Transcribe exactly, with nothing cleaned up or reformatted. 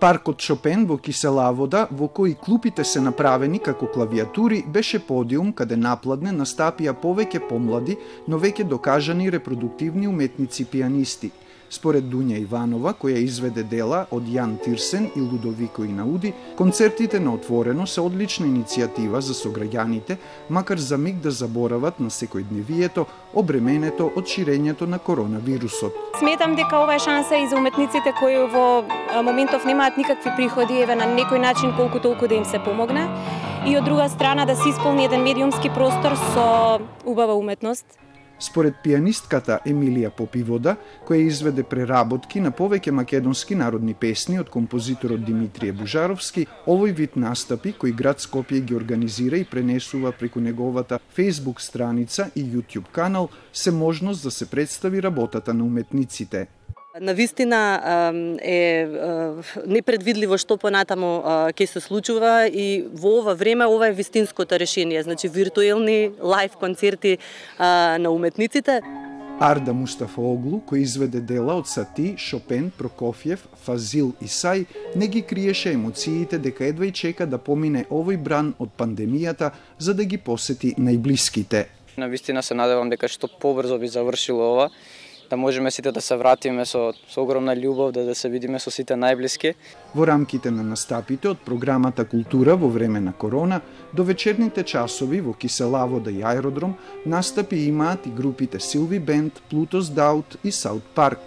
Паркот Шопен во Кисела вода, во кој клупите се направени како клавиатури, беше подиум каде напладне настапија повеќе помлади, но веќе докажани репродуктивни уметници пианисти. Според Дуња Иванова, која изведе дела од Јан Тирсен и Лудовико Инауди, концертите на отворено се одлична иницијатива за сограѓаните, макар за миг да заборават на секојдневието, обременето од ширењето на коронавирусот. Сметам дека ова е шанса и за уметниците кои во моментов немаат никакви приходи, еве на некој начин колку толку да им се помогне, и од друга страна да се исполни еден медиумски простор со убава уметност. Според пианистката Емилија Попивода, која изведе преработки на повеќе македонски народни песни од композиторот Димитрije Бужаровски, овој вид настапи кои град Скопје ги организира и пренесува преку неговата Facebook страница и YouTube канал се можност да се представи работата на уметниците. Навистина е непредвидливо што понатамо ќе се случува и во ова време ова е вистинското решение, значи виртуелни лайв концерти на уметниците. Арда Мустафаоглу, кој изведе дела од Сати, Шопен, Прокофјев, Фазил и Сај, не ги криеше емоциите дека едва и чека да помине овој бран од пандемијата за да ги посети најблиските. Навистина се надевам дека што побрзо би завршило ова, да можеме сите да се вратиме со, со огромна љубов, да, да се видиме со сите најблиски. Во рамките на настапите од програмата Култура во време на корона, до вечерните часови во Киселавода и Аеродром, настапи имаат и групите Силви Бенд, Плутос Даут и Саут Парк.